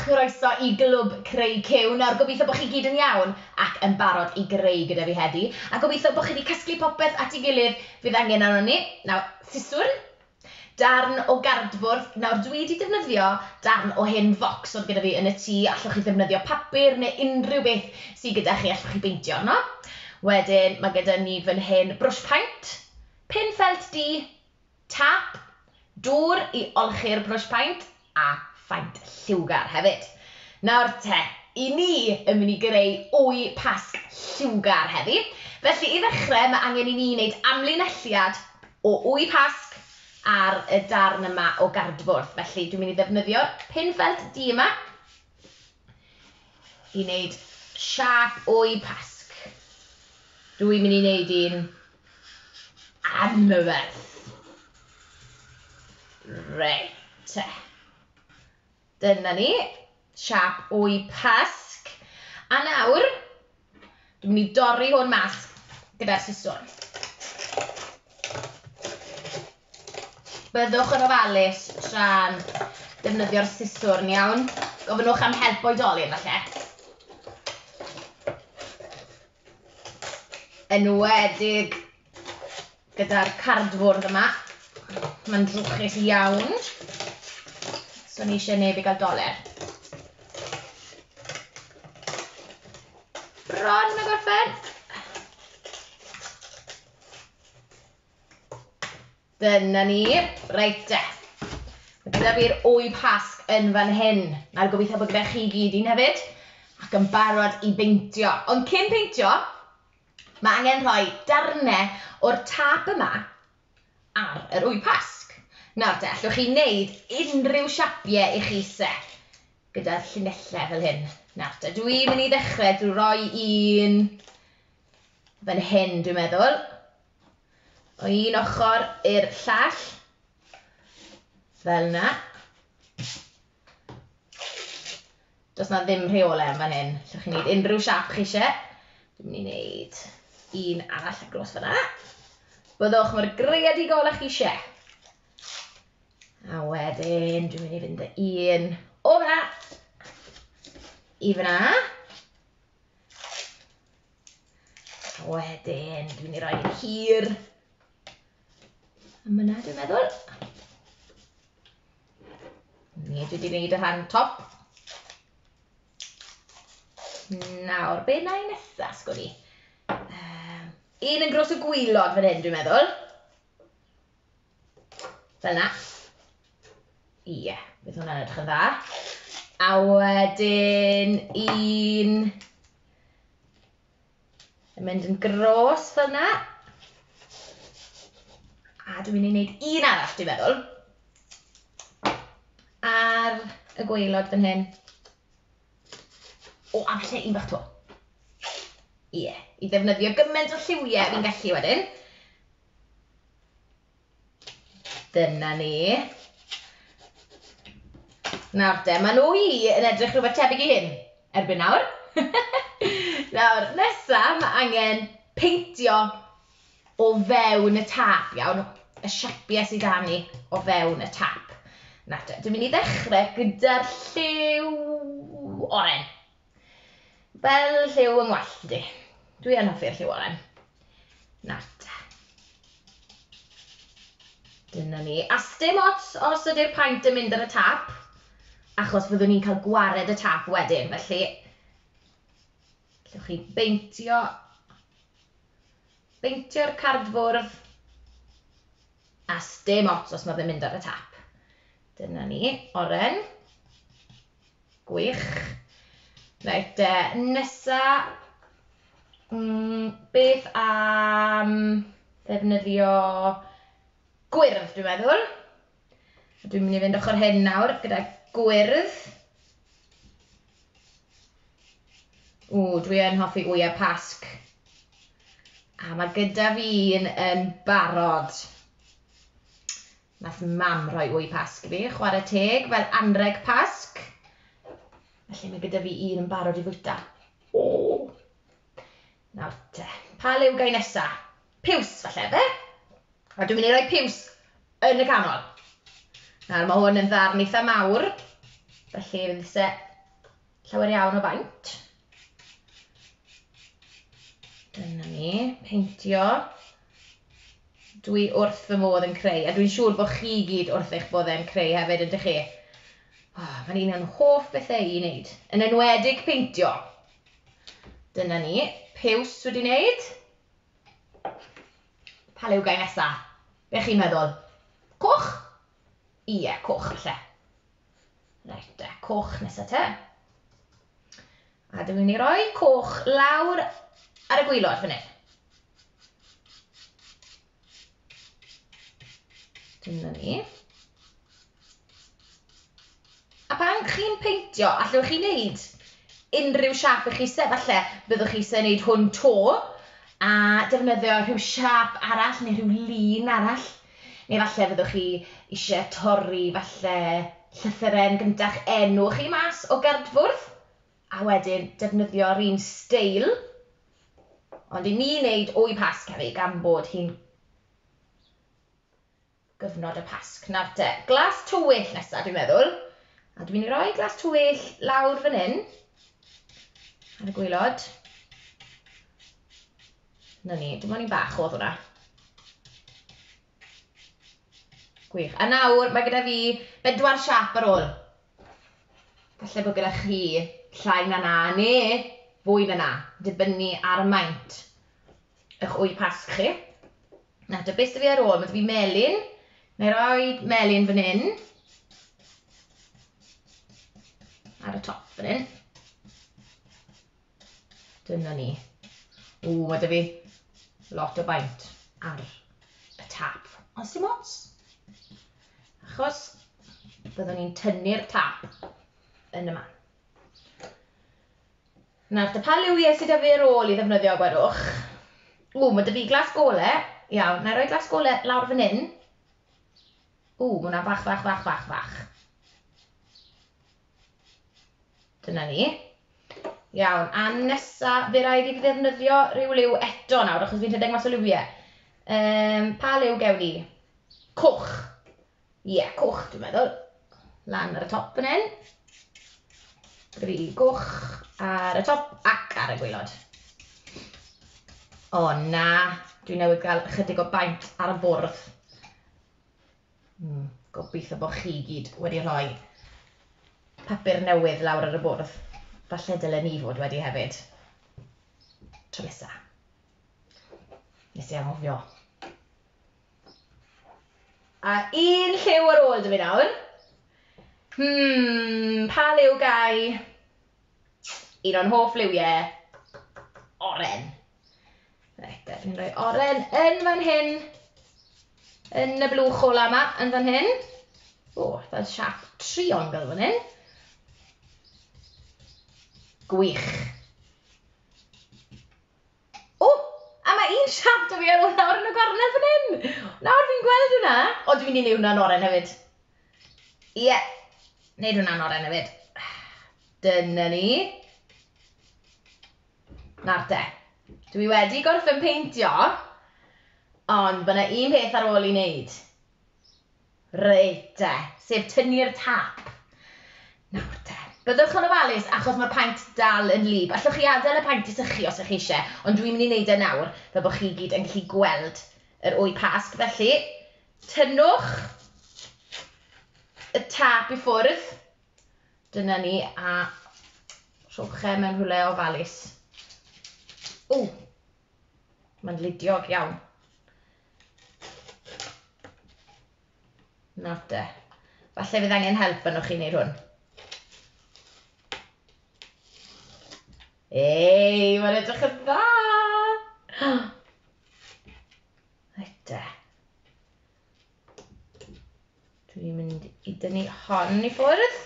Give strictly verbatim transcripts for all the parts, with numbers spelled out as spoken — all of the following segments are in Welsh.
chroeso i Glwb Creu Cyw. Nawr, gobeithio bod chi gyd yn iawn ac yn barod i greu gyda fi heddi. A gobeithio bod chi wedi casglu popeth at ei gilydd fydd angen arno ni. Nawr, siswrn, darn o gardfwrdd. Nawr, dwi wedi defnyddio darn o hen focs oedd gyda fi yn y tŷ. Allwch chi ddefnyddio papur neu unrhyw beth sydd gyda chi, allwch chi beintio arno. Wedyn, mae gyda ni fan hyn brwsh paent, pin ffelt du, tap, dŵr i olchi'r brwsh paent a phaent lliwgar hefyd. Nawr te, i ni yn mynd i greu wy Pasg lliwgar heddi. Felly i ddechrau, mae angen i ni wneud amlinelliad o wy Pasg ar y darn yma o gardfwrdd. Felly dwi'n mynd i ddefnyddio'r pin ffelt du yma i wneud siâp wy Pasg. Dwi'n mynd i wneud un anferth. Reit te. Dyna ni, siâp wy Pasg. A nawr, dwi'n mynd i dorri hwn mas gyda'r siswrn. Byddwch yn ofalus tra'n defnyddio'r siswrn, iawn? Gofynnwch am help oedolyn, falle. Enwedig gyda'r cardfwrdd yma. Mae'n drwchus iawn. So ni eisiau neb i gael doler. Bron a gorffen. Dyna ni. Reit de. Mae gyda fi'r wy Pasg yn fan hyn. Nawr gobeithio bod gyda chi gyd un hefyd. Ac yn barod i beintio. Ond cyn peintio, mae angen rhoi darnau o'r tap yma ar yr wy Pasg. Nawr te, allwch chi wneud unrhyw siapiau i chi se gyda'r llinellau fel hyn. Nawr te, dwi'n mynd i ddechrau drwy roi un fan hyn, dwi'n meddwl. O un ochr i'r llall, fel yna. Does na ddim rheolau yn fan hyn. Allwch chi wneud unrhyw siap chi eisiau. Dwi'n mynd i wneud un arall ar gros fan'na. Byddwch mor greadigol â chi eisiau. A wedyn, dwi'n mynd i fynd â un o fan'na i fan'na. A wedyn, dwi'n mynd i roi un hir am yna, dwi'n meddwl. Ni, dwi wedi gwneud y rhan top. Nawr, be na i nesaf, sgwn i? Um, un yn gros y gwylod fan hyn, dwi'n meddwl. Fel yna. Ie, yeah, bydd hwnna'n edrych yn dda. A wedyn un yn mynd yn gros fel yna. A dwi'n mynd i wneud un arall, dwi'n meddwl. Ar y gwaelod fan hyn. O, a falle un bach to. Ie, yeah, i ddefnyddio gymaint o lliwiau fi'n gallu wedyn. Dyna ni. Nawr te, maen nhw i yn edrych rhywbeth tebyg i hyn erbyn nawr. Nawr, nesa, mae angen peintio o fewn y tap, iawn, y siapiau sydd â ni o fewn y tap. Nawr te, dwi'n mynd i ddechrau gyda'r lliw oren. Fel lliw yng ngwallt i. Dwi yn hoffi'r lliw oren. Nawr te. Dyna ni. A sdim ots os ydy'r paent yn mynd ar y tap, achos fyddwn ni'n cael gwared y tap wedyn. Felly, allwch chi beintio, beintio'r cardfwrdd, a sdim ots os mae fe'n mynd ar y tap. Dyna ni, oren. Gwych. Reit, e, nesa, mm, beth am ddefnyddio gwyrdd, dwi'n meddwl. Dwi'n mynd i fynd ochr hyn nawr gyda gwyrdd. O, dwi yn hoffi wyau Pasg. A mae gyda fi un yn barod. Nath mam rhoi wy Pasg i fi, chwarae teg, fel anreg Pasg. Felly mae gyda fi un yn barod i fwyta. O! Nawr te, pa liw gai nesa? Piws, falle, fe? A dwi'n mynd i roi piws yn y canol. Nawr, mae hwn yn ddarn eitha mawr, felly fydd isie llawer iawn o baint. Dyna ni, peintio. Dwi wrth fy modd yn creu, a dwi'n siŵr bod chi gyd wrth eich bodd yn creu hefyd, ydych chi? Oh, mae'n un o'n hoff bethau i wneud, yn enwedig peintio. Dyna ni, piws wedi wneud. Pa liw gai nesa? Be chi'n meddwl? Coch? Ie, coch falle. Reit te, coch nesa te. A dwi'n mynd i roi coch lawr ar y gwaelod fan hyn. Dyna ni. A pan chi'n peintio, allwch chi wneud unrhyw siâp i chi isie. Falle byddwch chi isie wneud hwn to a defnyddio rhyw siâp arall neu rhyw lun arall. Neu falle fyddwch chi isie torri falle llythyren gynta'ch enw chi mas o gardfwrdd a wedyn defnyddio'r un steil. Ond i ni wneud wy Pasg heddi gan bod hi'n gyfnod y Pasg. Nawr te, glas tywyll nesaf dwi'n meddwl. A dwi'n mynd i roi glas tywyll lawr fan hyn, ar y gwaelod. Na ni, dim ond un bach oedd hwnna. Gwych. A nawr mae gyda fi bedwar siâp ar ôl. Falle bod gyda chi llai na na, neu fwy na na, dibynnu ar y maint eich wy Pasg chi. Nawr te, beth sydd fi ar ôl? Mae 'da fi melyn. Na i roi melyn fan hyn. Ar y top fan hyn. Dyna ni. Ww, mae 'da fi lot o baint ar y tap. Ond dim ots. Achos byddwn ni'n tynnu'r tap yn y man. Nawr, te, pa liwiau sydd 'da fi ar ôl i ddefnyddio, gwedwch? Ww, mae 'da fi glas gole. Iawn, na i roi glas gole lawr fan hyn. Ww, mae hwnna'n fach, fach, fach, fach, fach. Dyna ni. Iawn, a nesa, fe raid i fi ddefnyddio rhyw liw eto nawr, achos fi'n rhedeg mas o liwiau. Um, pa liw gewn ni? Coch. Ie, yeah, coch dwi'n meddwl. Lan ar y top fan hyn. Gyda fi goch ar y top ac ar y gwaelod. O na, dwi newydd gael ychydig o baint ar y bwrdd. Hmm, gobeithio bod chi gyd wedi rhoi papur newydd lawr ar y bwrdd. Falle dylen ni fod wedi hefyd. Tro nesa. Nes i anghofio. A un lliw ar ôl 'da fi nawr. Hmm, pa liw gai? Un o'n hoff liwiau. Oren. Reit, dwi'n rhoi oren yn fan hyn. Yn y blwch ola yma, yn fan hyn. O, fel siâp triongl fan hyn. Gwych. O, a mae un siâp 'da fi ar ôl nawr yn y gornel fan hyn. Nawr fi'n gweld hwnna. O, dwi'n mynd i wneud hwnna'n oren hefyd. Ie, yeah, wneud hwnna'n oren hefyd. Dyna ni. Nawr te, dwi wedi gorffen peintio, ond mae yna un peth ar ôl i wneud. Reit te, sef tynnu'r tap. Nawr te, byddwch yn ofalus achos mae'r paent dal yn wlyb. Allwch chi adael y paent i sychu os ych chi eisiau, ond dwi'n mynd i wneud e nawr fel bod chi gyd yn gallu gweld yr wy Pasg. Felly, tynnwch y tap i ffwrdd. Dyna ni, a rhowch e mewn rhywle ofalus. O, mae'n ludiog iawn. Nawr te, falle fydd angen help arnoch chi wneud hwn. Ei, mae'n edrych yn dda! Reit te. Dwi'n mynd i dynnu hon i ffwrdd.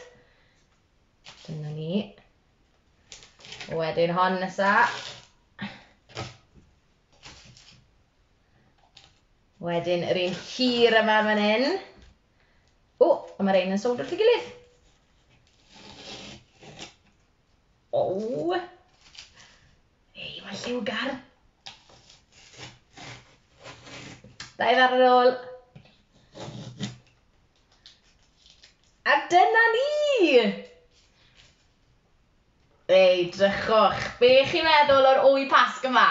Dyna ni. Wedyn hon nesa. Wedyn yr un hir yma fan hyn. O, a mae'r un yn sownd wrth ei gilydd. O! Ei, mae'n lliwgar. Dau ddarn ar ôl. A dyna ni! Ei, drychwch, be chi'n meddwl o'r wy Pasg yma?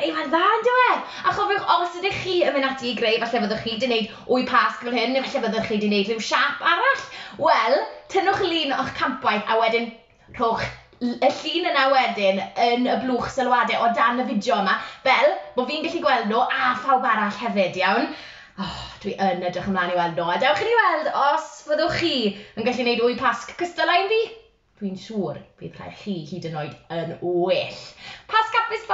Ei, mae'n dda, yn dyw e? A chofiwch, os ydych chi yn mynd ati i greu, falle fyddwch chi wedi gwneud wy Pasg fel hyn, neu falle fyddwch chi wedi gwneud rhyw siap arall. Wel, tynnwch lun o'ch campwaith a wedyn rhowch y llun yna wedyn yn y blwch sylwadau o dan y fideo yma, fel bod fi'n gallu gweld nhw a phawb arall hefyd, iawn? Oh, dwi yn edrych ymlaen i weld nhw. A dewch i ni weld os fyddwch chi yn gallu gwneud wy Pasg cystal â un fi. Dwi'n siŵr bydd rhai chi hyd yn oed yn well. Pasg hapus, bawb!